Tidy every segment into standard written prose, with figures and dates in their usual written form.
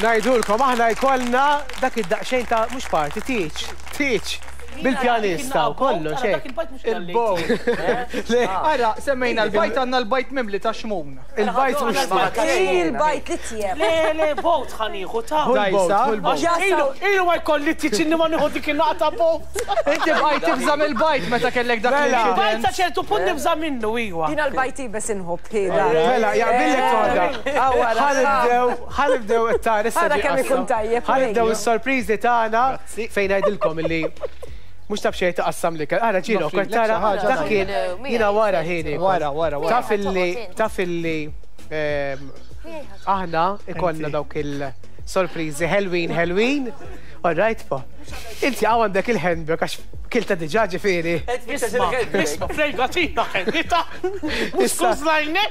Ngħidulkom aħna jkollna dak id-daqsxejn ta' mhux party, tieġ, tieġ bil-pjanista u kollox hekk. Il-bowl. Le. Ara, semmejna l-bajt għandna l-bajt mimli ta' xmun. Il-bajt mhux ta' Il-bajt li tjeb. Le, le, boat ħa nieħu ta' Dajsa, Għax ilu, ilu ma jkolli tieġ inni ma nieħu dik in-naqta boat. Inti bqajt tibża' mill-bajt meta kellek dak Mela. l-inċident. Bajt sa ċertu punt nibża' minnu, iwa. Jiena l-bajt iebes inħobb, hi dan. Mela, jaqbillek Tonda. Ħa nibdew, ħa nibdew it-tar issa Ara ġie kemm ikun qassam. tajjeb, Ħa nibdew Lejlu. is-sorpriżi tagħna fejn ngħidilkom illi mhux taf xejn taqassam l-ikel. Ara ġieli wkoll Noffrilek tara xi ħaġa dak kien jiena wara ħin iekol. Wara, wara, wara. Taf illi taf illi ehm, aħna ikollna dawk il-sorpriżi ħelwin ħelwin. All right, pa. Inti hawn għandek il-handbag għax kilta diġà ġifieri. Isma, isma, frejgatina ħennita. Mhux Issa- skużlajni.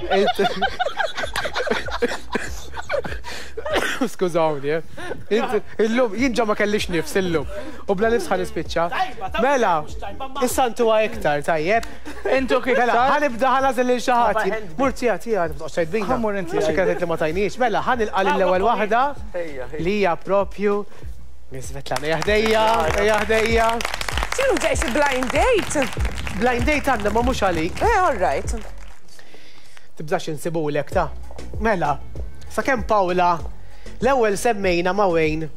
Skużawni, eh. Int- Illum, jien ġa ma kellix nifs illum. U bla nifs ħa nispiċċa. Tajba, tajba, Mela, mhux tajba, ma- issa ntuha iktar, tajjeb. Intuk Mela, iktar. ħa nibda ħa nagħżel lil xi ħadd. Mur tija, tija, ma toqgħodx tgħid bina. Ħa mmur inti. Għax kienet li ma tajniex. Mela, ħa nilqa' lill-ewwel waħda li hija propju Miss Svetlana. Ejja ħdejja, ejja ħdejja. X'inhu ġej xi blind date? Blind date għandna ma mhux għalik. Eh, all right. Tibżax insibulek ta. Mela, sakemm Paola l-ewwel semmejna ma' Wayne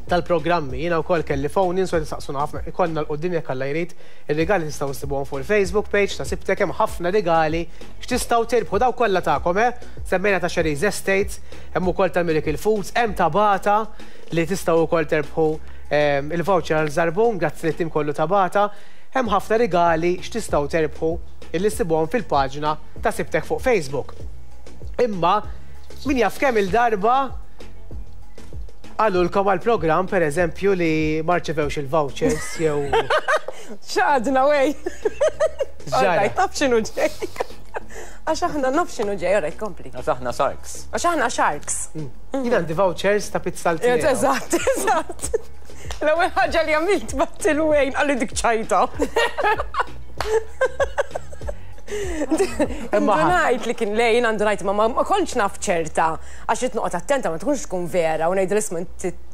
tal-programmi, jiena wkoll kelli phone in so saqsuna ħafna, ikollna 'l quddiem jekk Alla jrid, ir-rigali tistgħu issibuhom fuq il-Facebook page ta' Sibtek hemm ħafna rigali x'tistgħu tirbħu dawk kollha tagħkom eh! Semmejna ta' Sherry's Estates, hemm ukoll ta' Miracle Foods, hemm ta' Bata li tistgħu wkoll terbħu il-voucher għal Żarbun, grazzi lit-tim kollu ta' Bata. Hemm ħafna rigali x'tistgħu terbħu illi ssibuhom fil-paġna ta' Sibtek fuq Facebook. Imma min jaf kemm-il darba qalulkom għall-programm pereżempju li ma rċevewx il-vouchers jew. X'għadna wey! X'ġara? Alright, naf x'inhu ġej. Għax aħna naf x'inhu ġej, alright, kompli. Għax aħna sharks. Għax aħna sharks. Jien għandi vouchers ta' pizza l-tnejn. Eżatt, eżatt. L-ewwel ħaġa li għamilt bat il-wejn qalli dik ċajta. Indunajt li kien lejn, għandu ngħid ma ma kontx naf ċerta għax rid noqgħod attenta ma tkunx tkun vera u ngħidu isma'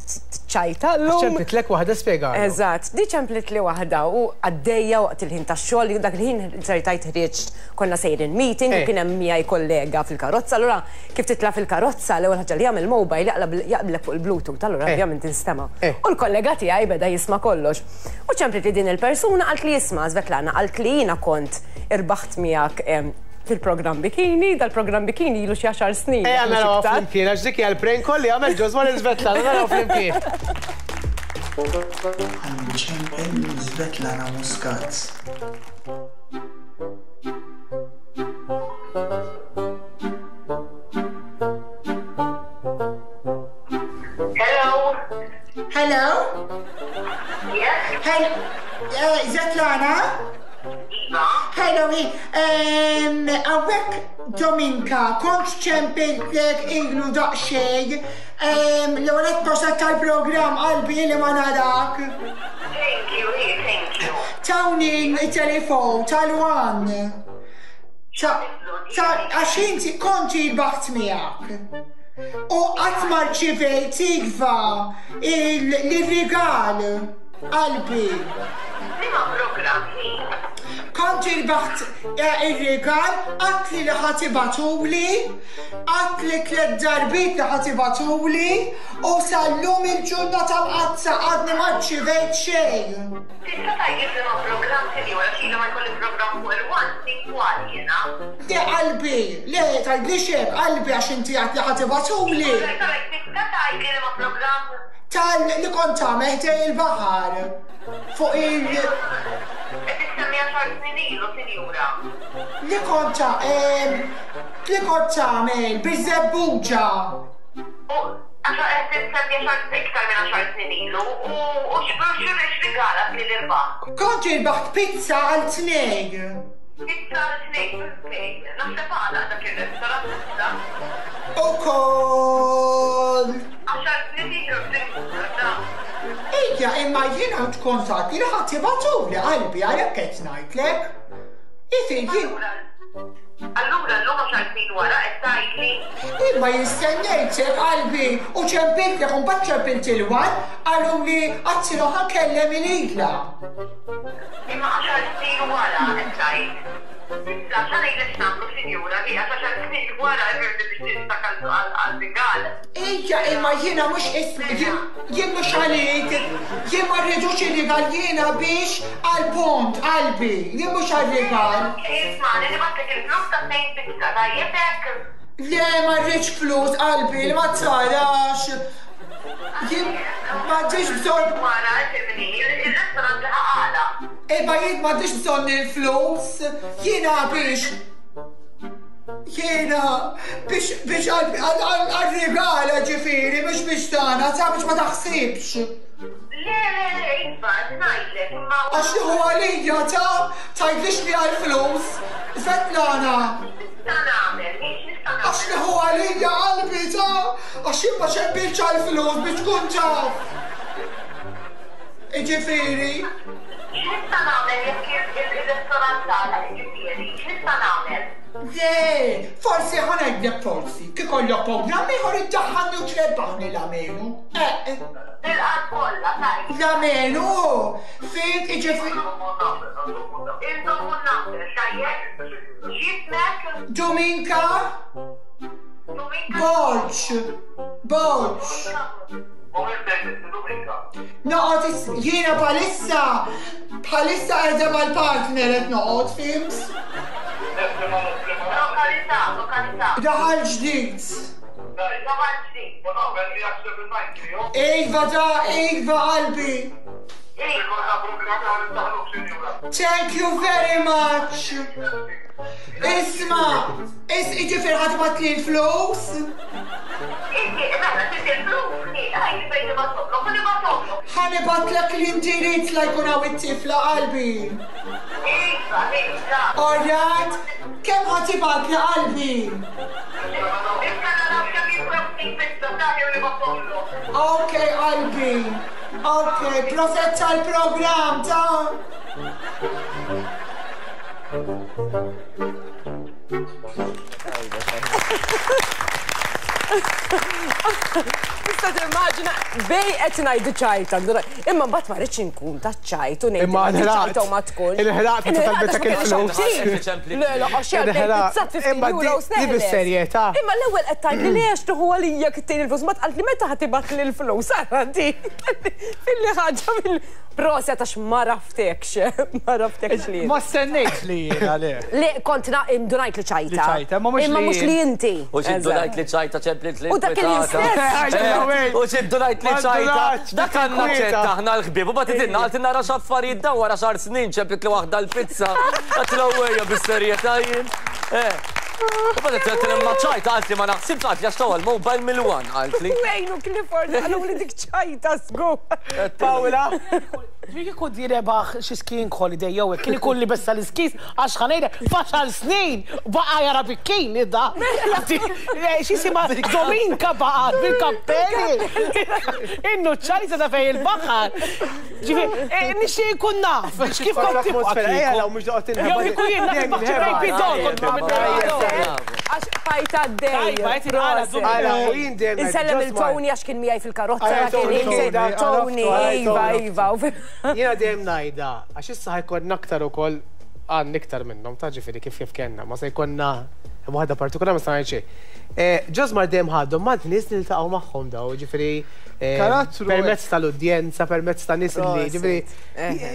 ċajta llum. Ċemplitlek waħda spjega. Eżatt, di ċemplitli waħda u għaddejja waqt il-ħin tax-xogħol, dak il-ħin sertajt ħriġt konna sejrin meeting u eh. kien hemm miegħi kollega fil-karozza, allura kif titla' fil-karozza l-ewwel ħaġa li jagħmel mobile jaqblek fuq il-Bluetooth, allura eh. ovvjament tinstema'. Eh. U l-kollega tiegħi beda jisma' kollox. U ċemplit li din il-persuna qalt li isma' Svetlana qalt li jiena kont irbaħt miegħek fil-programm Bikini, dal-programm Bikini ilu xi għaxar snin. Ejja naraw flimkien, għax dik hija l-prank call li għamel Ġożwa lil Svetlana, naraw flimkien. Ħa nċempel lil Svetlana Muscat. Hello. Hello? Yes. Hello, eh, Svetlana? Iva. Hello, hawnhekk Dominka, kont ċempiltlek ilu daqsxejn. L-ewwel qed proset tal-programm qalbi li ma narak. Thank you, hi, thank you. Tawni il-telefon tal-one. Għax inti kont irbaħt miegħek. U qatt ma rċivejt iva il-rigal. Qalbi. Liema programm hi? Kont irbaħt ir-rigal, għadtli li ħa tibgħatuli, għadtli tlett darbiet li ħa tibgħatuli u sal-lum il-ġurnata mqaddsa għadni ma rċivejt xejn. Tista' tgħidli f'liema programm sinjura għax ili ma jkolli programm fuq il-One snin twal jiena. Le qalbi, le tgħidlix hekk qalbi għax inti għedt li ħa tibgħatuli. Alright, alright, tista' tgħidli liema programm? Tal li kont tagħmel ħdej il-baħar fuq il. Qed issemmi għaxar snin ilu, sinjura. Li kont li kont tagħmel biż-żebbuġa. U għaxar qed issemmi għaxar iktar minn għaxar snin ilu u u x'rigalat li irbaħt? Kont irbaħt pizza għal tnejn. Pizza għal tnejn minn fejn? Naħseb għalaq dak ir-restaurant issa. Ukoll. Għaxar snin ilu sinjura ta. Ejja imma jiena tkun tgħid li ħa tibgħatuli qalbi għalhekk qed ngħidlek. Ifhem jien. Allura llum għaxar snin wara qed tgħidli. Imma jien stennejtek qalbi u ċempiltlek u mbagħad ċempilt il-One qaluli għadsilu ħa nkellem il-Ila. Imma għaxar snin wara qed tgħid. Issa xa ngħidlek x'nagħmlu sinjura hi għax għaxar snin wara ifhimni biex tinsak għall-rigal. Ija imma jiena mhux jien jien mhux għalik, jien ma rridux ir-rigal jiena biex għall-pont qalbi, jien mhux għar-rigal. Ismagħni nibgħatlek il-flus ta' tnejn pizza tajjeb hekk? Le ma rridx flus qalbi li ma tarax. Jien m'għandix bżonn. Wara ifhimni, ir-restaurant laħaq għalaq. Imma jien m'għandix bżonn il-flus, jiena biex. Jiena biex biex għal-rigala ġifieri mhux biex tagħna, sa biex ma taħsibx. Le, le, le, iva, qed ngħidlek, imma. Għax li hu għalija ta' tgħidlix li għall-flus. Svetlana. X'nista' nagħmel, hi x'nista' nagħmel? Għax li hu għalija qalbi ta' għax jien ma xebbitx għall-flus biex tkun taf. Jiġifieri. X'nista' nagħmel jekk ir-restorant tagħlaq, jiġifieri, x'nista' nagħmel? Le, forsi ħa ngħidlek forsi, kif ikollok programm ieħor iddaħħalni u trebbaħni l-amenu. Eh. Bil-qalb kollha, tajjeb. L-amenu, fhimt, jiġifieri. Inżommu n-number, tajjeb? X'ismek? Dominka? Dominka? Borg. Borg. Noqgħod jiena bħalissa bħalissa qiegħda mal-partner qed noqgħod, fhimt? Lokalità, lokalità. Raħal Ġdid. Raħal Ġdid. Iva da, iva qalbi. Thank you very much. Isma, is jiġifieri ħa tibgħatli l-flus? Inti, mela, trid il-flus, hi, għidli fejn nibgħathomlok u nibgħathomlok. Ħa nibgħatlek l-indirizz la jkun hawn it-tifla qalbi. Iva, iva. All right? Kemm ħa tibgħatli qalbi? Issa naraw kemm jiswew ftit pizza, sahi u nibgħathomlok. Ok qalbi. Ok, proset tal-programm ta'. Tista' timmaġina bej qed ngħidu ċajta, imma mbagħad ma rridx inkun ta' ċajt u ngħid Imma nħraqt. ċajta u ma tkun. Inħraqt meta talbitek il-flus. Le, le, għax jgħid Imma di bis-serjetà. Imma l-ewwel qed tgħidli le għax tieħu għalija kittejn il-flus, ma tqalt li meta ħa tibgħatli l-flus, ara di. Filli ħaġa mill Proset għax ma raftekx, ma raftekx li. Ma stennejtx li jiena le. Le, kont indunajt li ċajta. Li ċajta, imma mhux Imma mhux li inti. U x'indunajt li ċajta ċemplit li U dak il-ħin stess. U x'indunajt li ċajta. Dak għandna ċett aħna l-ħbieb u bagħad idilna qaltilna ara x'affarijiet dawn wara xahar snin ċemplit li waħda l-pizza. Għedtilha ejja bis-serjetà jien. U bagħad għedtilha imma ċajta qaltli ma naħsibx qaltli għax tawha l-mobile mill-one qaltli. Wayne u Clifford qaluli dik ċajta żgur. Paola? Ġifieri kieku di rebaħ xi skiing holiday jew hekk, kien ikun libes tal-iskis għax ħa ngħidlek f'għaxar snin baqa' jara bikini da. X'jisimha Dominka baqgħet bil-kappelli. In-nuċċali ta' fejn il-baħar. Ġifieri nixtieq inkun naf kif kont tibqa' kieku. Jew kieku jien naf il-baħar bidon kont nagħmel bidon. Għax bqajt għaddej. Tajba, qed inqara Ara, u jien dejjem Insellem ngħid, il Josmar. Tony għax kien miegħi fil-karozza Ara, kien Tony, insellem Tony, Tony, iva, iva. Jiena dejjem ngħidha, għax issa ħajkonna aktar ukoll għandna iktar minnhom, ta' ġifieri kif kif kellna, ma se jkollna waħda partikolari ma se ngħid xejn. Josmar dejjem ħadhom ma' nies li niltaqgħu magħhom daw, ġifieri Karattru permezz tal-udjenza, permezz ta' nies li ġifieri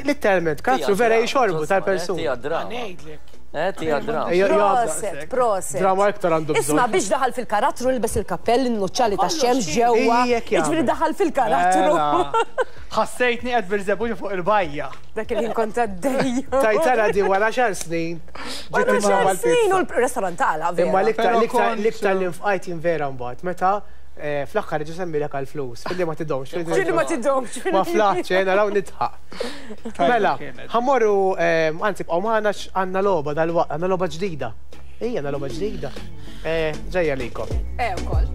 letteralment karattru vera jixorbu tal-persuna. Tija drama. Ngħidlek. Eh, tija drama. Proset, proset. Drama iktar għandu bżonn. Isma' biex daħal fil-karattru lbes il-kappell, in-nuċċali tax-xemx ġewwa. Ejjek jagħmel. Jiġifieri daħal fil-karattru. Ħassejtni qed birżebbuġa fuq il-bajja. Dak il-ħin kont għaddejja. Tajtara di wara xar snin. Wara Ġiet xar imma snin u l-restaurant tagħla vera. Imma l-iktar Però l-iktar kont- l-iktar li nfqajt jien vera mbagħad meta fl-aħħar ġie semmilek għall-flus, filli ma tidhomx. Filli ma tidhomx. Ma flaħtx, naraw nidħaq. Mela, ħammorru, anzi bqgħu magħna għandna logħba dal-waqt, għandna logħba ġdida. Ejja, għandna logħba ġdida. Ġejja likom. Ukoll.